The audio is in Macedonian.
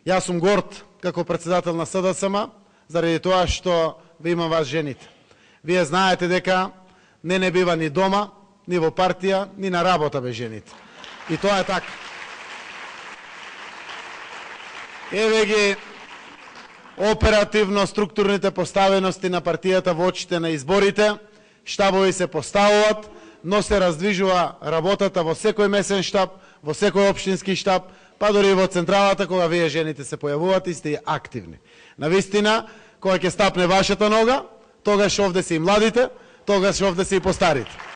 Јас сум горд како председател на СДСМ заради тоа што ви имам вас жените. Вие знаете дека не бива ни дома, ни во партија, ни на работа без жените. И тоа е така. Еве ги оперативно структурните поставености на партијата во очите на изборите, штабови се поставуваат, но се раздвижува работата во секој месен штаб, во секој општински штаб, па дори и во централата кога вие жените се појавувате и сте активни. Навистина, кога ќе стапне вашата нога, тогаш овде се и младите, тогаш овде се и постарите.